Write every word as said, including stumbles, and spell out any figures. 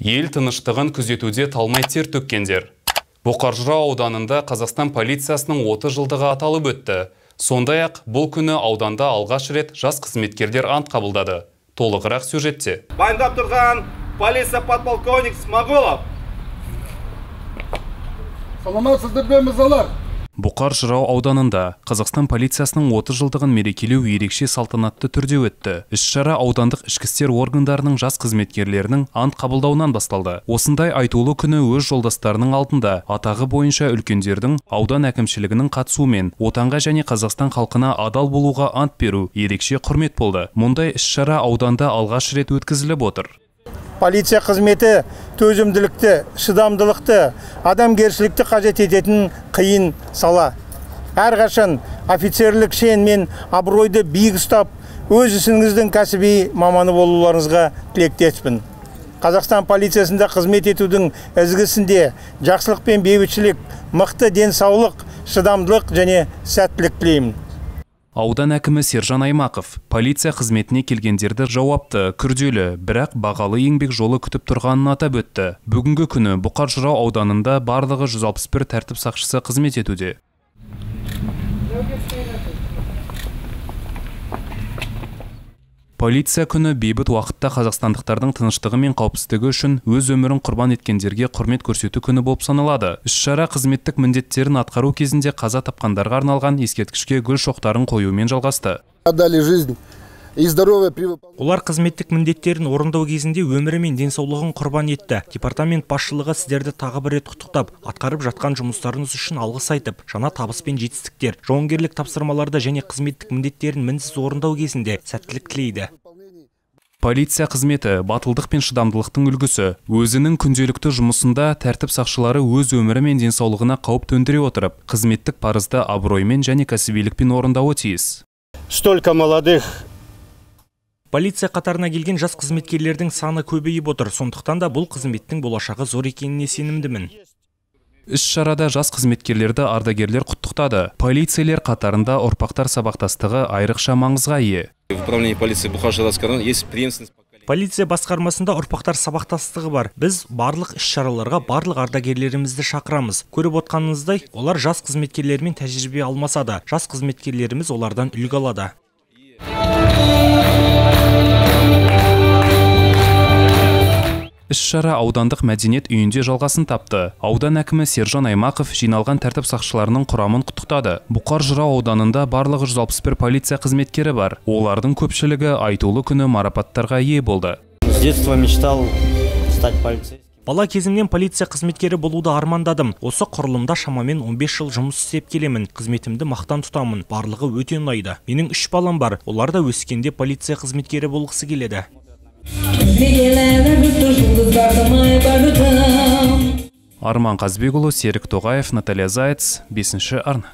Ел тыныштығын күзетуде талмай тер төккендер. Бұқар-Жырау ауданында Қазақстан полициясының отыз жылдығы аталып өтті. Сондай-ақ бұл күні ауданда алғаш рет жас қызметкерлер ант қабылдады. Толығырақ сюжетте. Баяндап тұрған полиция подполковник Смағұлов. Саламатсыздар бе мырзалар? Бұқар-Жырау ауданында Қазақстан полициясының отыз жылдығын мерекелеу ерекше салтанатты түрде өтті. Іс-шара аудандық ішкі істер органдарының жас қызметкерлерінің ант қабылдауынан басталды. Осындай айтулы күні өз жолдастарының алдында атағы бойынша үлкендердің аудан әкімшілігінің қатысуымен отанға және Қазақстан халқына адал болуға ант беру ерекше құрмет болды. Мұндай іс-шара ауданда алғаш рет өткізіліп отыр. Полиция қызметі төзімділікті, шыдамдылықты, адамгершілікті қажет ететін қиын сала. Әрқашан офицерлік шен мен абыройды биік ұстап, өз ісіңіздің кәсіби маманы болуларыңызға тілектеспін. Қазақстан полициясында қызмет етудің ізгісінде жақсылық пен бейбітшілік, мықты денсаулық, шыдамдылық және сәттілік тілеймін. Аудан әкімі Сержан Аймақов полиция қызметіне келгендерді жауапты, күрделі, бірақ бағалы еңбек жолы күтіп тұрғанын атап өтті. Бүгінгі күні Бұқар-Жырау ауданында барлығы жүз алпыс бір тәртіп сақшысы қызмет етуде. Полиция күні бейбіт уақытта қазақстандықтардың тыныштығы мен қауіпсіздігі үшін өз өмірін құрбан еткендерге құрмет көрсету күні болып саналады. Іс-шара қызметтік міндеттерін атқару кезінде қаза тапқандарға арналған ескерткішке гүл шоқтарын қоюмен жалғасты. Олар қызметтік міндеттерін орындау кезінде өмірі мен денсаулығын құрбан етті. Департамент басшылығы сіздерді тағы бір рет құттықтап, атқарып жатқан жұмыстарыңыз үшін алғыс айтып, жаңа табыс пен жетістіктер, жауынгерлік тапсырмаларды және қызметтік міндеттерін мінсіз орындау кезінде сәттілік тілейді. Полиция қызметі батылдық пен шыдамдылықтың үлгісі. Өзінің күнделікті жұмысында тәртіп сақшылары өз өмірі мен денсаулығына қауіп төндіре отырып, қызметтік парызды абыроймен және кәсібилікпен орындауы тиіс. Столько молодых Полиция қатарына келген жас қызметкерлердің саны көбейіп отыр, сондықтан да бұл қызметтің болашағы зор екеніне сенімдімін. Іс-шарада жас қызметкерлерді ардагерлер құттықтады. Полицейлер қатарында ұрпақтар сабақтастығы айрықша маңызға ие. Полиция басқармасында ұрпақтар сабақтастығы бар. Біз барлық іс-шараларға барлық ардагерлерімізді шақырамыз. Көріп отқаныңыздай, олар жас қызметкерлермен тәжірибе алмасады. Жас қызметкерлеріміз олардан үлгі алады. Іс-шара аудандық мәдениет үйінде жалғасын тапты. Аудан әкімі Сержан Аймақов жиналған тәртіп сақшыларының құрамын құттықтады. Бұқар-Жырау ауданында барлығы жүз алпыс бір полиция қызметкері бар. Олардың көпшілігі айтулы күні марапаттарға ие болды. С детства мечтал стать полицейским. Бала кезімнен полиция қызметкері болуды армандадым. Осы құрылымда шамамен он бес жыл жұмыс істеп келемін. Қызметімді мақтан тұтамын. Барлығы өте ұнайды. Менің үш балам бар. Олар да өскенде полиция қызметкері болғысы келеді. Арман Қазбекұлы, Серік Тоғаев, Наталья Заяц, бесінші арна.